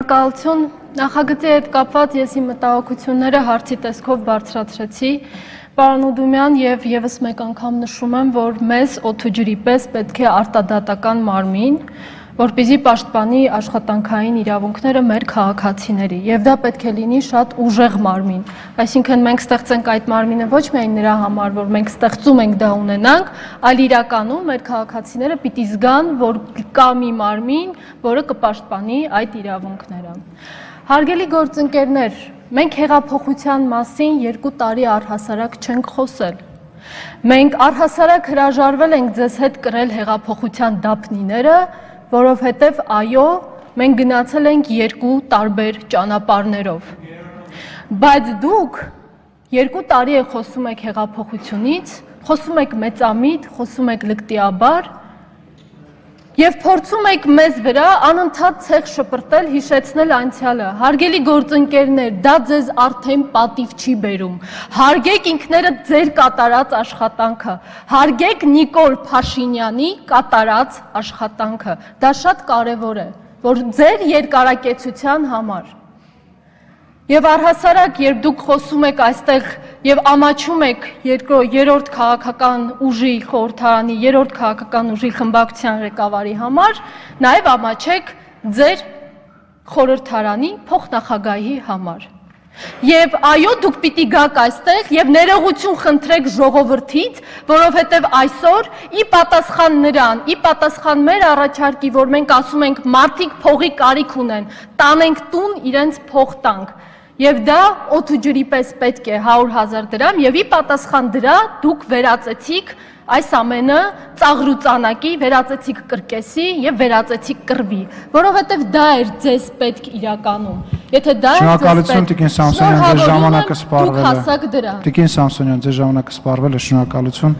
Շնորհակալություն, նախագծի հետ կապված ես իմ մտահոգությունները հարցի տեսքով բարձրացրեցի, պարոն Ուդումյան, եւ եւս մեկ անգամ նշում եմ, որ մեզ օդուջրի պես պետք է արտադատական մարմին, որպեսզի պաշտպանի աշխատանքային իրավունքները մեր քաղաքացիների, եւ դա պետք է լինի շատ ուժեղ մարմին, այսինքն մենք ստեղծենք այդ մարմինը ոչ միայն նրա համար, որ մենք ստեղծում ենք դա ունենանք, այլ իրականում մեր քաղաքացիները պիտի զգան, որ կա մի մարմին, որը կպաշտպանի այդ իրավունքները։ Հարգելի գործընկերներ, մենք հեղափոխության մասին 2 տարի առհասարակ չենք խոսել։ Մենք առհասարակ հրաժարվել ենք ձեզ հետ կրել հեղափոխության դափնիները, որովհետև այո, մենք գնացել ենք 2 տարբեր ճանապարհներով։ Բայց դուք 2 տարի է խոսում եք հեղափոխությունից, խոսում եք մեծամիտ, խոսում եք լկտիաբար եւ փորձում եք մեզ վրա անընդհատ ցեղ շպրտել, հիշեցնել անցյալը։ Հարգելի գործընկերներ, դա ձեզ արդեն պատիվ չի բերում։ Հարգեք ինքներդ ձեր կատարած աշխատանքը։ Հարգեք Նիկոլ Փաշինյանի կատարած աշխատանքը։ Դա շատ կարևոր է, որ ձեր երկարակեցության համար։ Եվ առհասարակ, երբ դուք խոսում եք այստեղ եւ ամաչում եք երրորդ քաղաքական ուժի խորհրդարանի, երրորդ քաղաքական ուժի խմբակցության ղեկավարի համար, նաեւ ամաչեք ձեր խորհրդարանի փոխնախագահի համար։ Եվ այո, դուք պիտի գաք այստեղ եւ ներողություն խնդրեք ժողովրդից, որովհետեւ այսօր ի պատասխան նրան, ի պատասխան մեր առաջարկի, որ մենք ասում ենք մարդիկ փողի կարիք ունեն, տանենք տուն իրենց փող տանք։ Եվ դա օդուջրի պես պետք է 100,000 դրամ եւ ի պատասխան դրա դուք վերածեցիք այս ամենը ծաղրուծանակի, վերածեցիք կրկեսի եւ վերածեցիք կռվի, որովհետեւ դա էր ձեզ պետք իրականում։ Եթե դա էր Շնորհակալություն Տիկին Սամսոնյան, ձեր ժամանակը սպառվել է։ Դուք հասակ դրա։ Տիկին Սամսոնյան, ձեր ժամանակը սպառվել է, շնորհակալություն։